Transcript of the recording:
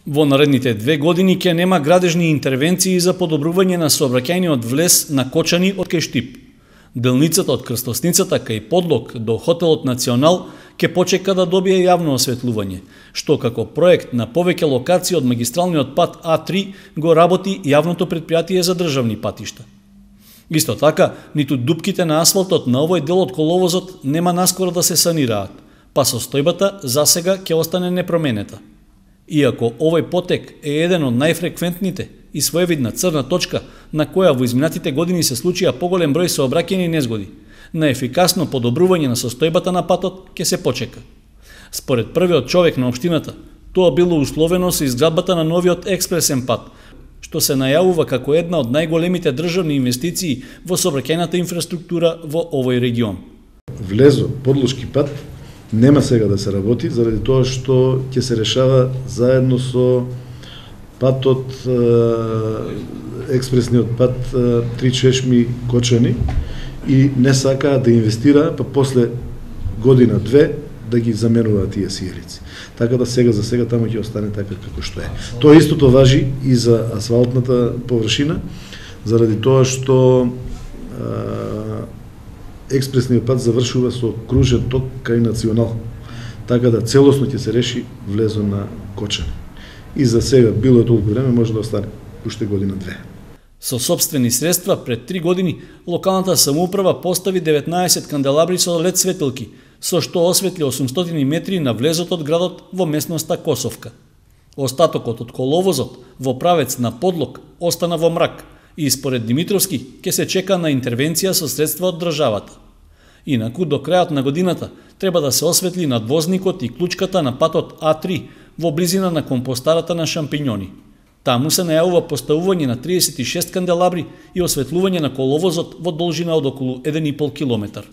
Во наредните 2 години ќе нема градежни интервенции за подобрување на сообраќајниот влез на Кочани од кај Штип. Делницата од крстосницата кај Подлог до хотелот Национал ќе почека да добие јавно осветлување, што како проект на повеќе локации од магистралниот пат А3 го работи јавното претпријатие за државни патишта. Исто така, ниту дупките на асфалтот на овој дел од коловозот нема наскоро да се санираат, па состојбата засега ќе остане непроменета. Иако овој потек е еден од најфреквентните и своевидна црна точка на која во изминатите години се случија поголем број сообраќајни незгоди, на ефикасно подобрување на состојбата на патот ќе се почека. Според првиот човек на општината, тоа било условено со изградбата на новиот експресен пат, што се најавува како една од најголемите државни инвестиции во сообраќајната инфраструктура во овој регион. Влезо подлошки пат нема сега да се работи, заради тоа што ќе се решава заедно со патот, експресниот пат 3 Чешми Кочани и не сакаат да инвестира, па после година-две да ги заменуваат тие сијалици. Така да сега за сега таму ќе остане така како што е. Тоа истото важи и за асфалтната површина, заради тоа што експресниот пат завршува со кружен ток кај Национал. Така да целосно ќе се реши влезо на Кочани. И за сега, било е толку време, може да остане уште година-две. Со собствени средства, пред 3 години, локалната самоуправа постави 19 канделабри со лед светилки, со што осветли 800 метри на влезот од градот во местноста Косовка. Остатокот од коловозот во правец на Подлог остана во мрак и според Димитровски ќе се чека на интервенција со средства од државата. Инаку, до крајот на годината треба да се осветли надвозникот и клучката на патот А3 во близина на компостарата на шампињони. Таму се најавува поставување на 36 канделабри и осветлување на коловозот во должина од околу 1,5 километар.